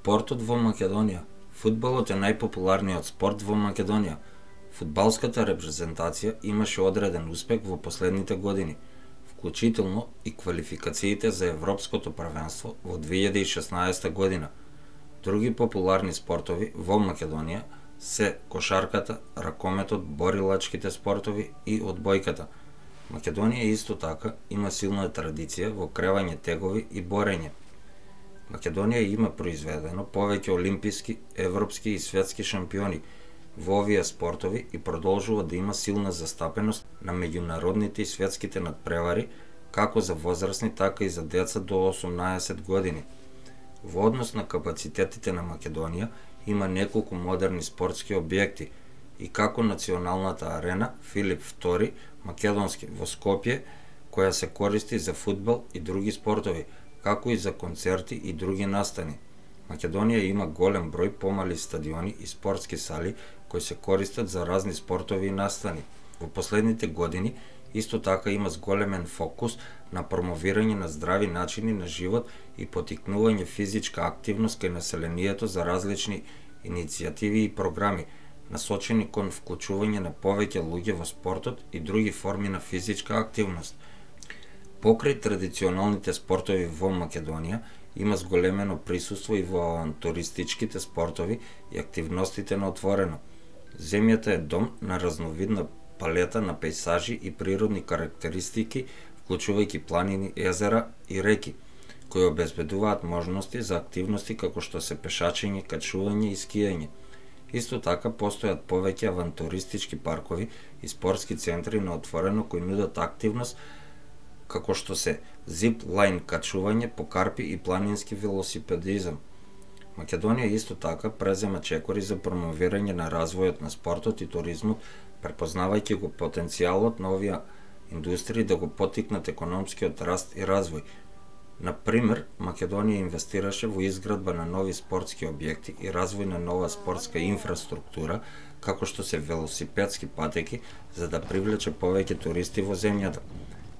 Спортот во Македонија. Фудбалот е најпопуларниот спорт во Македонија. Фудбалската репрезентација имаше одреден успех во последните години, вклучително и квалификациите за Европското првенство во 2016 година. Други популарни спортови во Македонија се кошарката, ракометот, борилачките спортови и одбојката. Македонија исто така има силна традиција во кревање тегови и борење. Македонија има произведено повеќе олимписки, европски и светски шампиони во овие спортови и продолжува да има силна застапеност на меѓународните и светските надпревари, како за возрастни, така и за деца до 18 години. Во однос на капацитетите на Македонија има неколку модерни спортски објекти и како националната арена Филип II Македонски во Скопје, која се користи за фудбал и други спортови, како и за концерти и други настани. Македонија има голем број помали стадиони и спортски сали кои се користат за разни спортови и настани. Во последните години исто така има зголемен фокус на промовирање на здрави начини на живот и поттикнување физичка активност кај населението за различни иницијативи и програми, насочени кон вклучување на повеќе луѓе во спортот и други форми на физичка активност. Покрај традиционалните спортови во Македонија, има зголемено присуство и во авантуристичките спортови и активностите на отворено. Земјата е дом на разновидна палета на пејсажи и природни карактеристики, вклучувајќи планини, езера и реки, кои обезбедуваат можности за активности како што се пешачење, качување и скијање. Исто така постојат повеќе авантуристички паркови и спортски центри на отворено кои нудат активност како што се зип-лајн качување по карпи и планински велосипедизам. Македонија исто така презема чекори за промовирање на развојот на спортот и туризмот, препознавајќи го потенцијалот на овие индустрии да го поттикнат економскиот раст и развој. Например, Македонија инвестираше во изградба на нови спортски објекти и развој на нова спортска инфраструктура, како што се велосипедски патеки, за да привлече повеќе туристи во земјата.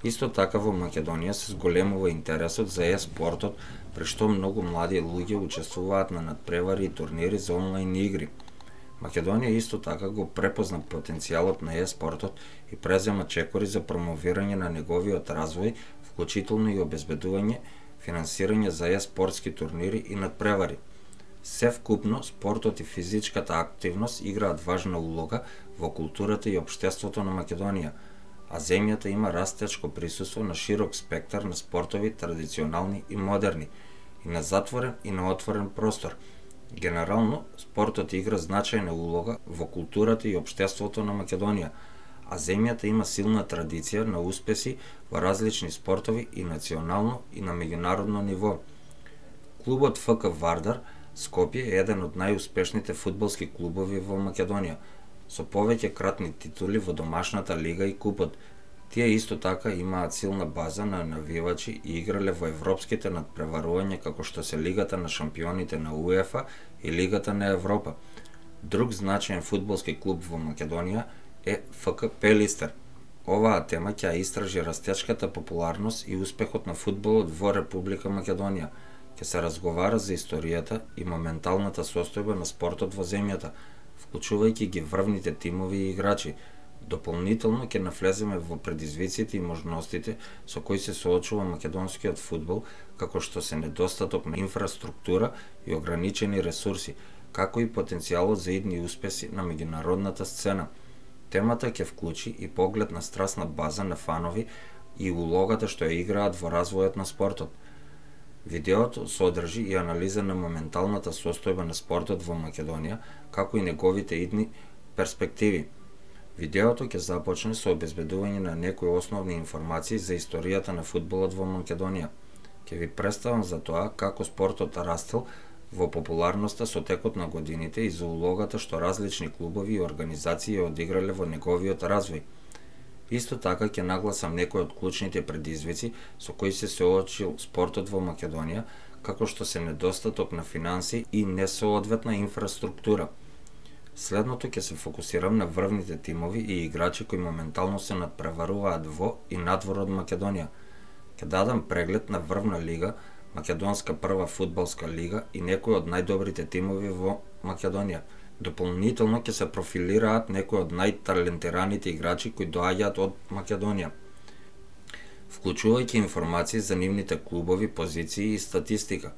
Исто така во Македонија се зголемува интересот за е-спортот, при што многу млади луѓе учествуваат на надпревари и турнири за онлайн игри. Македонија исто така го препозна потенцијалот на е-спортот и презема чекори за промовирање на неговиот развој, вклучително и обезбедување финансирање за е-спортски турнири и надпревари. Севкупно, спортот и физичката активност играат важна улога во културата и општеството на Македонија, а земјата има растечко присуство на широк спектар на спортови, традиционални и модерни, и на затворен и на отворен простор. Генерално, спортот игра значајна улога во културата и општеството на Македонија, а земјата има силна традиција на успеси во различни спортови и национално и на меѓународно ниво. Клубот ФК Вардар Скопје е еден од најуспешните фудбалски клубови во Македонија, со повеќе кратни титули во домашната лига и купот. Тие исто така имаат силна база на навивачи и играле во европските надпреварувања како што се Лигата на шампионите на УЕФА и Лигата на Европа. Друг значаен фудбалски клуб во Македонија е ФК Пелистер. Оваа тема ќе истражи растечката популарност и успехот на фудбалот во Република Македонија. Ќе се разговара за историјата и моменталната состојба на спортот во земјата, вклучувајќи ги врвните тимови и играчи. Дополнително ќе навлеземе во предизвиците и можностите со кои се соочува македонскиот фудбал, како што се недостаток на инфраструктура и ограничени ресурси, како и потенцијалот за идни успеси на меѓународната сцена. Темата ќе вклучи и поглед на страстна база на фанови и улогата што ја играат во развојот на спортот. Видеото содржи и анализа на моменталната состојба на спортот во Македонија, како и неговите идни перспективи. Видеото ќе започне со обезбедување на некои основни информации за историјата на фудбалот во Македонија. Ќе ви представам за тоа како спортот растел во популарноста со текот на годините и за улогата што различни клубови и организации ја одиграле во неговиот развој. Исто така ќе нагласам некои од клучните предизвици со кои се соочил спортот во Македонија, како што се недостаток на финанси и несоодветна инфраструктура. Следното ќе се фокусирам на врвните тимови и играчи кои моментално се надпреваруваат во и надвор од Македонија. Ќе дадам преглед на врвна лига македонска прва фудбалска лига и некои од најдобрите тимови во Македонија. Дополнително ќе се профилираат некои од најталентираните играчи кои доаѓаат од Македонија, вклучувајќи информации за нивните клубови, позиции и статистика.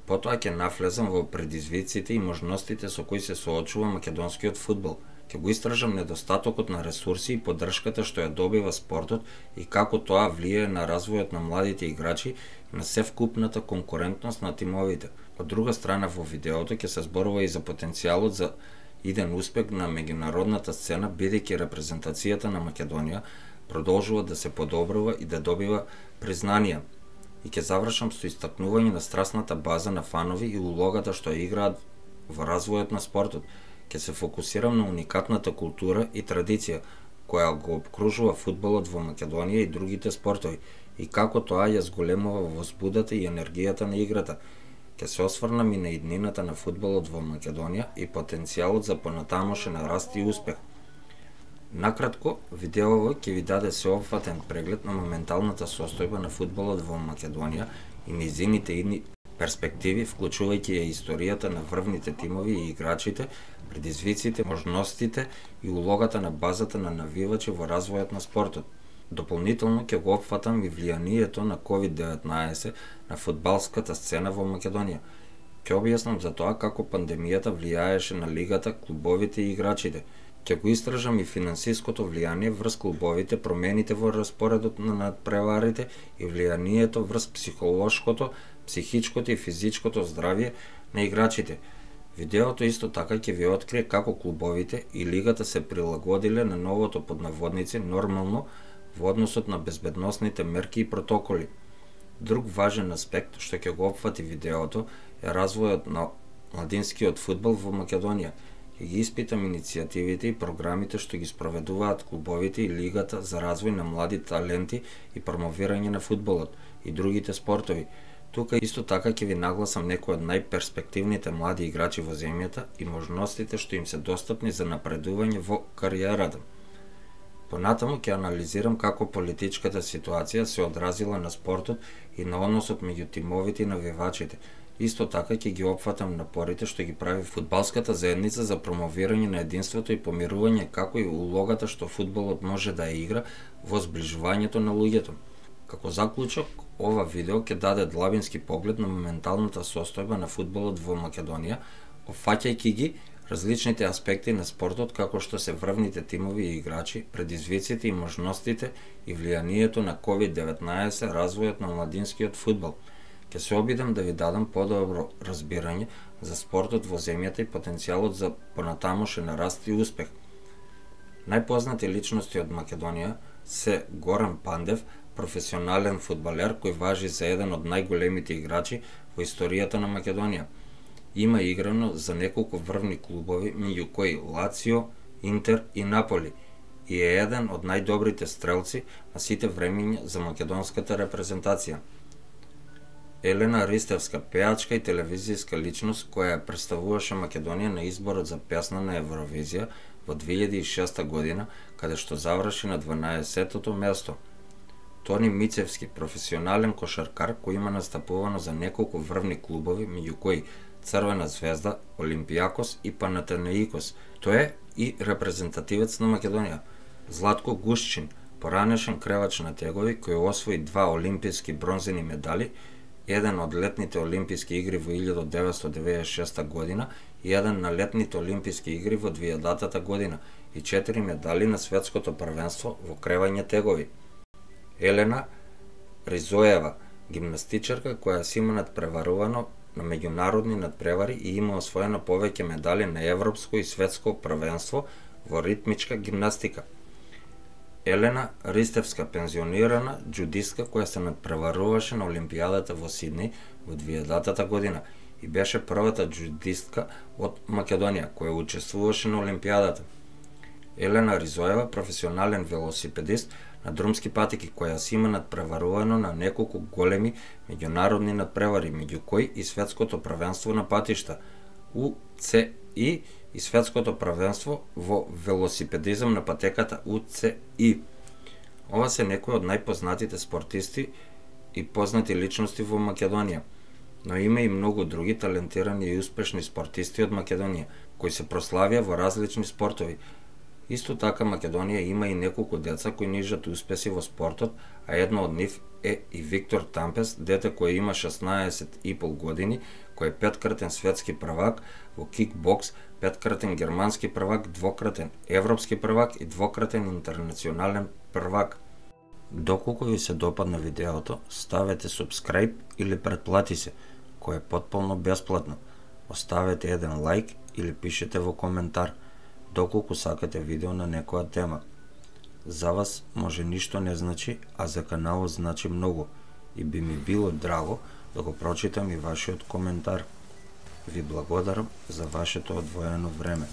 Потоа ќе навлезам во предизвиците и можностите со кои се соочува македонскиот фудбал. Ќе го истражам недостатокот на ресурси и поддршката што ја добива спортот и како тоа влијае на развојот на младите играчи и на севкупната конкурентност на тимовите. Од друга страна, во видеото ќе се зборува и за потенцијалот за иден успех на меѓународната сцена, бидејќи репрезентацијата на Македонија продолжува да се подобрува и да добива признанија. И ќе завршам со истакнување на страстната база на фанови и улогата што ја играат во развојот на спортот. Ќе се фокусирам на уникатната култура и традиција која го обкружува фудбалот во Македонија и другите спортови и како тоа ја зголемува возбудата и енергијата на играта. Ќе се осврнам и на иднината на фудбалот во Македонија и потенцијалот за понатамошен раст и успех. Накратко, видеово ќе ви даде сеопфатен преглед на моменталната состојба на фудбалот во Македонија и низините идни перспективи, вклучувајќи ја историјата на врвните тимови и играчите, предизвиците, можностите и улогата на базата на навивачи во развојот на спортот. Дополнително ќе го опфатам и влијанието на COVID-19 на фудбалската сцена во Македонија. Ќе објаснам за тоа како пандемијата влијаеше на лигата, клубовите и играчите. Ќе го истражам и финансиското влијание врз клубовите, промените во распоредот на надпреварите и влијанието врз психолошкото, психичкото и физичкото здравје на играчите. Видеото исто така ќе ви открие како клубовите и лигата се прилагодиле на новото под наводници нормално во односот на безбедносните мерки и протоколи. Друг важен аспект што ќе го опфати видеото е развојот на младинскиот фудбал во Македонија. Ќе ги испитам иницијативите и програмите што ги спроведуваат клубовите и лигата за развој на млади таленти и промовирање на фудбалот и другите спортови. Тука исто така ќе ви нагласам некои од најперспективните млади играчи во земјата и можностите што им се достапни за напредување во кариерата. Понатаму ќе анализирам како политичката ситуација се одразила на спортот и на односот меѓу тимовите и навивачите. Исто така ќе ги опфатам напорите што ги прави фудбалската заедница за промовирање на единството и помирување, како и улогата што фудбалот може да ја игра во зближувањето на луѓето. Како заклучок, ова видео ќе даде длабински поглед на моменталната состојба на фудбалот во Македонија, опфаќајќи ги различните аспекти на спортот како што се врвните тимови и играчи, предизвиците и можностите и влијанието на COVID-19 развојот на младинскиот фудбал. Ќе се обидам да ви дадам подобро разбирање за спортот во земјата и потенцијалот за понатамошен раст и успех. Најпознати личности од Македонија се Горан Пандев, професионален фудбалер кој важи за еден од најголемите играчи во историјата на Македонија. Има играно за неколку врвни клубови, меѓу кои Лацио, Интер и Наполи, и е еден од најдобрите стрелци на сите времиња за македонската репрезентација. Елена Ристевска, пеачка и телевизијска личност која ја представуваше Македонија на изборот за песна на Евровизија во 2006 година, каде што заврши на 12-тото место. Тони Мицевски, професионален кошаркар кој има настапувано за неколку врвни клубови, меѓу кои Црвена звезда, Олимпијакос и Панатенаикос. Тој е и репрезентативец на Македонија. Златко Гушчин, поранешен кревач на тегови кој освои 2 олимписки бронзени медали, еден од летните олимписки игри во 1996 година и еден на летните олимписки игри во 2000 година и 4 медали на светското првенство во кревање тегови. Елена Ризоева, гимнастичарка која си има надпреварувано на меѓународни надпревари и има освоено повеќе медали на европско и светско првенство во ритмичка гимнастика. Елена Ристевска, пензионирана џудистка која се надпреваруваше на Олимпијадата во Сиднеј во 2000 година и беше првата џудистка од Македонија која учествуваше на Олимпијадата. Елена Ризоева, професионален велосипедист на друмски патеки која си има надпреварувано на неколку големи меѓународни надпревари, меѓу кои и светското првенство на патишта, УЦИ и светското првенство во велосипедизам на патеката УЦИ. Ова се некои од најпознатите спортисти и познати личности во Македонија. Но има и многу други талентирани и успешни спортисти од Македонија, кои се прославија во различни спортови. Исто така Македонија има и неколку деца кои нижат успеси во спортот, а едно од нив е и Виктор Тампес, дете кој има 16,5 години, кој е 5-кратен светски првак во кикбокс, 5-кратен германски првак, 2-кратен европски првак и 2-кратен интернационален првак. Доколку ви се допадна видеото, ставете subscribe или претплати се, кој е потполно бесплатно. Оставете еден лайк или пишете во коментар доколку сакате видео на некоја тема. За вас може ништо не значи, а за каналот значи многу и би ми било драго да го прочитам и вашиот коментар. Ви благодарам за вашето одвоено време.